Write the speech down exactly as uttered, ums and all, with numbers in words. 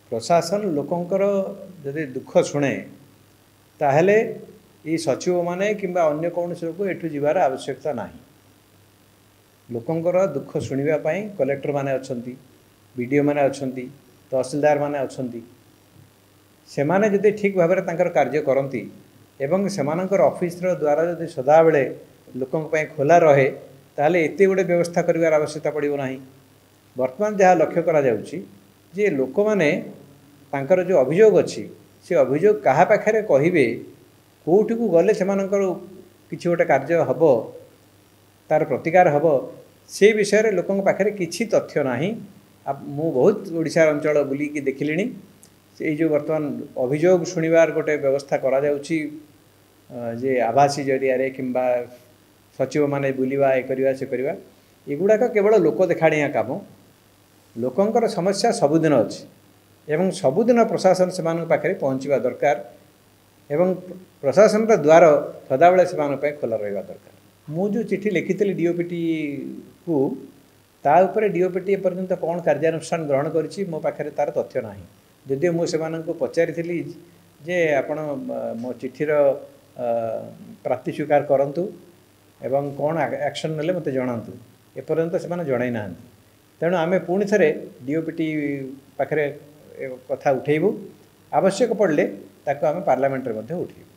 ପ୍ରଶାସନ ଲୋକଙ୍କର ଯଦି ଦୁଃଖ ଶୁଣେ, ତାହେଲେ ଏଇ ସଚିବମାନେ କିମ୍ବା ଅନ୍ୟ କୌଣସି ଲୋକ ଏଠୁ ଯିବାର ଆବଶ୍ୟକତା ନାହିଁ। ଲୋକଙ୍କର ଦୁଃଖ ଶୁଣିବା ପାଇଁ କଲେକ୍ଟରମାନେ ଅଛନ୍ତି, ବି ଡ଼ି ଓ ମାନେ ଅଛନ୍ତି, ତହସିଲଦାର ମାନେ ଅଛନ୍ତି। ସେମାନେ ଯଦି ଠିକ୍ ଭାବରେ ତାଙ୍କର କାର୍ଯ୍ୟ କରନ୍ତି ଏବଂ ସେମାନଙ୍କର ଅଫିସର ଦ୍ୱାରା ଯଦି ସଦାବେଳେ ଲୋକଙ୍କ ପାଇଁ ଖୋଲା ରହେ, ତାହେଲେ ଏତେ ଗୁଡ଼ିଏ ବ୍ୟବସ୍ଥା କରିବାର ଆବଶ୍ୟକତା ପଡ଼ିବ ନାହିଁ। ବର୍ତ୍ତମାନ ଯାହା ଲକ୍ଷ୍ୟ କରାଯାଉଛି ଯେ ଲୋକମାନେ ତାଙ୍କର ଯେଉଁ ଅଭିଯୋଗ ଅଛି, ସେ ଅଭିଯୋଗ କାହା ପାଖରେ କହିବେ, କେଉଁଠିକୁ ଗଲେ ସେମାନଙ୍କର କିଛି ଗୋଟେ କାର୍ଯ୍ୟ ହେବ, ତାର ପ୍ରତିକାର ହେବ, ସେ ବିଷୟରେ ଲୋକଙ୍କ ପାଖରେ କିଛି ତଥ୍ୟ ନାହିଁ। ମୁଁ ବହୁତ ଓଡ଼ିଶାର ଅଞ୍ଚଳ ବୁଲିକି ଦେଖିଲିଣି। ଏଇ ଯେଉଁ ବର୍ତ୍ତମାନ ଅଭିଯୋଗ ଶୁଣିବାର ଗୋଟେ ବ୍ୟବସ୍ଥା କରାଯାଉଛି ଯେ ଆଭାସୀ ଜରିଆରେ କିମ୍ବା ସଚିବମାନେ ବୁଲିବା, ଏ କରିବା ସେ କରିବା, ଏଗୁଡ଼ାକ କେବଳ ଲୋକ ଦେଖାଣିଆ କାମ। ଲୋକଙ୍କର ସମସ୍ୟା ସବୁଦିନ ଅଛି ଏବଂ ସବୁଦିନ ପ୍ରଶାସନ ସେମାନଙ୍କ ପାଖରେ ପହଞ୍ଚିବା ଦରକାର ଏବଂ ପ୍ରଶାସନର ଦ୍ୱାର ସଦାବେଳେ ସେମାନଙ୍କ ପାଇଁ ଖୋଲା ରହିବା ଦରକାର। ମୁଁ ଯେଉଁ ଚିଠି ଲେଖିଥିଲି ଡିଓପିଟିକୁ, ତା ଉପରେ ଡିଓପିଟି ଏପର୍ଯ୍ୟନ୍ତ କ'ଣ କାର୍ଯ୍ୟାନୁଷ୍ଠାନ ଗ୍ରହଣ କରିଛି ମୋ ପାଖରେ ତା'ର ତଥ୍ୟ ନାହିଁ। ଯଦିଓ ମୁଁ ସେମାନଙ୍କୁ ପଚାରିଥିଲି ଯେ ଆପଣ ମୋ ଚିଠିର ପ୍ରାପ୍ତି ସ୍ୱୀକାର କରନ୍ତୁ ଏବଂ କ'ଣ ଆକ୍ସନ୍ ନେଲେ ମୋତେ ଜଣାନ୍ତୁ, ଏପର୍ଯ୍ୟନ୍ତ ସେମାନେ ଜଣାଇ ନାହାନ୍ତି। ତେଣୁ ଆମେ ପୁଣି ଥରେ ଡିଓପିଟି ପାଖରେ କଥା ଉଠେଇବୁ, ଆବଶ୍ୟକ ପଡ଼ିଲେ ତାକୁ ଆମେ ପାର୍ଲାମେଣ୍ଟରେ ମଧ୍ୟ ଉଠେଇବୁ।